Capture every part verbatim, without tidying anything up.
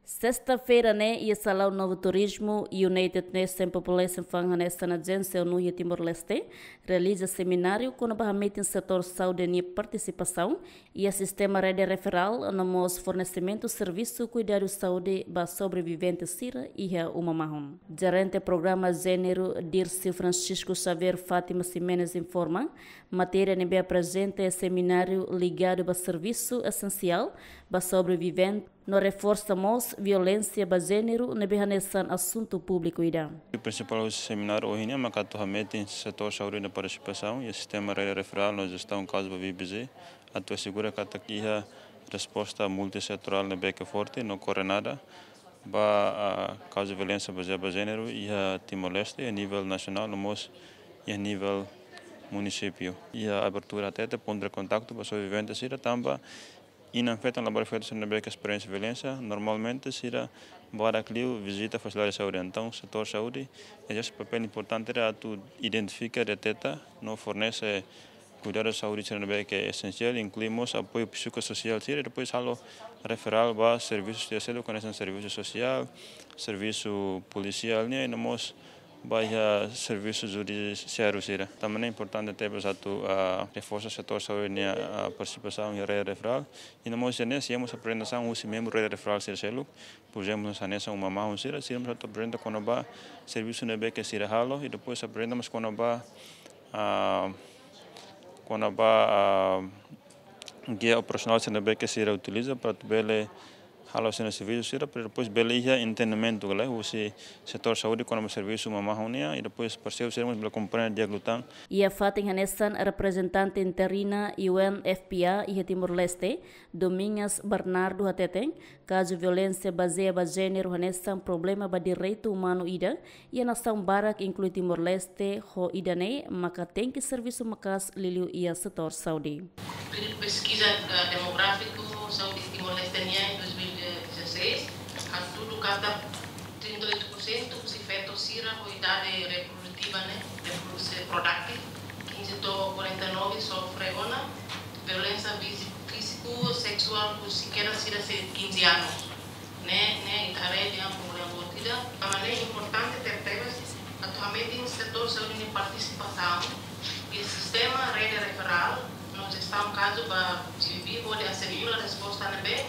Sesta-feira ne'e, iha Salaun Novo Turismo, United Nations Population Fund hanesan ajénsia ONU iha Timor-Leste realiza semináriu kona-ba hametin setór saúde nia partisipasaun iha sistema rede referál no mós fornesimentu servisu kuidadu saúde ba sobrevivente sira iha uma mahon. Jerente Programa Jéneru, Dirceu Francisco Xavier Fátima Ximenes informa, matéria ne'ebé aprezenta iha semináriu ligadu ba servisu esensiál ba sobrevivente, no reforsa mós violénsia ba jéneru ne'ebé hanesan asuntu públiku ida. O prinsipál husi semináriu ohin ne'e maka atu hametin setór saúde nia partisipasaun iha sistema rede referál no jestaun kazu ba V B J, atu asegura katak iha resposta multisetorál ne'ebé ke forte no koordenada ba, ah, kazu violénsia bazeia ba jéneru iha Timor-Leste, iha nivel nasionál no mós iha nivel munisípiu. Iha abertura hatete pontu de kontaktu ba sobrevivente sira tanba inan-feton labarik-feto sira ne'ebé ke esperiénsia violénsia, normalmente sira barak liu vizita fasilidade saúde. Entaun, setór saúde ezerse papél importante ida atu identifika, deteta no fornese kuidadu saúde sira ne'ebé ke esensiál, inklui mós apoiu psikososiál sira, i depois halo referál ba servisu sira seluk, hanesan servisu sosiál, servisu polisiál nian, i no mós ba iha servisu judisiáriu sira. Tanba ne'e importante tebes atu, ah, reforsa setór saúde nia, ah, partisipasaun iha rede referál. I no mós iha ne'e, simu mós aprezentasaun husi membru rede referál sira seluk. Por ezemplu, hanesan uma mahon sira, sira mós atu aprezenta kona-ba servisu ne'ebé ke sira halo, i depois aprezenta mós kona-ba, ah, kona-ba, ah, gia operasionál sira ne'ebé ke sira utiliza para atu bele halo sira-nia servisu sira, para depois bele iha entendimentu, kala, husi setór saúde kona-ba servisu uma mahon nian, i depois parseiru sira mós bele komprende di'ak liután. Iha fatin hanesan, reprezentante interina U N F P A iha Timor-Leste, Domingas Bernardo hateten, kazu violénsia bazeia ba jéneru hanesan problema ba direitu umanu ida iha nasaun barak, inklui Timor-Leste, ho ida-ne'e maka tenke servisu maka'as liuliu iha setór saúde. Períodu peskiza, eh, demográfiku saúde Timor-Leste nian dois mil e dezasseis, hatudu katak trinta e oito por cento husi feto sira ho idade reprodutiva, ne'e, reprodução produtiva, quinze to'o quarenta e nove, sofre ona violénsia fízi-, fíziku seksuál husi kedas sira sei quinze anos. Ne'e, ne'e ita haree dehan problema boot ida. Tanba ne'e importante tebetebes atu hametin setór saúde nia partisipasaun iha sistema rede referál no jestaun kazu ba G V B, hodi asegura resposta ne'ebé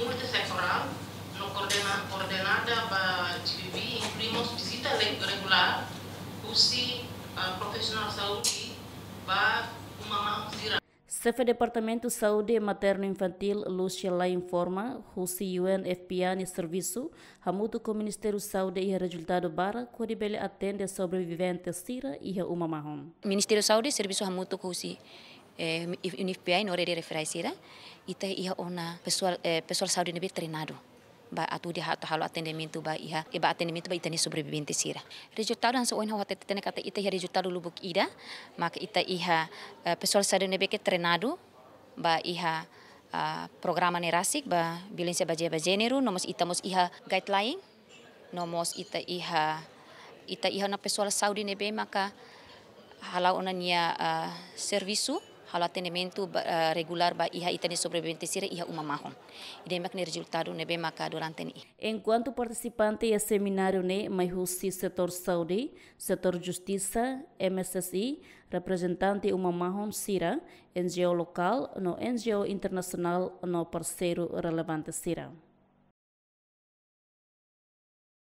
multisetorál no koordena-, koordenada ba G V B, inklui mós vizita le-, regulár husi, ah, profisionál saúde ba uma mahon sira. Xefe Departamentu Saúde Maternu Infantíl, Lúcia Lai informa, husi U N F P A nia servisu hamutuk ho Ministériu Saúde iha rezultadu barak hodi bele atende sobrevivente sira iha uma mahon. Ministériu Saúde servisu hamutuk husi, eh, U N F P A no rede referál sira, ita iha ona pesoál, eh, pesoál saúde ne'ebé treinadu ba atu hodi atu halo atendimentu ba iha, eh, ba atendimentu ba ita-nia sobrevivente sira. Rezultadu hanesan ohin ha'u hatete ne'e katak ita iha rezultadu lubuk ida, maka ita iha, eh, pesoál saúde ne'ebé ke treinadu ba iha, ah, programa ne'e rasik ba violénsia bazeia ba jéneru, no mós ita mós iha guideline, no mós ita iha, ita iha ona pesoál saúde ne'ebé maka hala'o ona nia, ah, servisu, halo atendimentu ba, ah, regulár ba iha ita-nia sobrevivente sira iha uma mahon. Ida-ne'e mak nia rezultadu ne'ebé maka durante ne'e. Enkuantu partisipante iha semináriu ne'e mai husi setór saúde, setór justisa, M S S I, reprezentante uma mahon sira, N G O lokál no N G O internasionál no parseiru relevante sira.